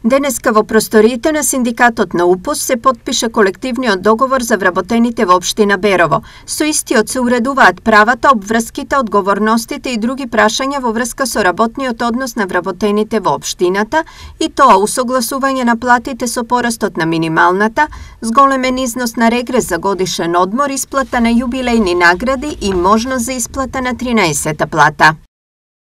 Денеска во просториите на Синдикатот на УПОС се потпише колективниот договор за вработените во општина Берово. Со истиот се уредуваат правата, обврските, одговорностите и други прашања во врска со работниот однос на вработените во општината, и тоа усогласување на платите со порастот на минималната, зголемен износ на регрес за годишен одмор, исплата на јубилејни награди и можност за исплата на 13-та плата.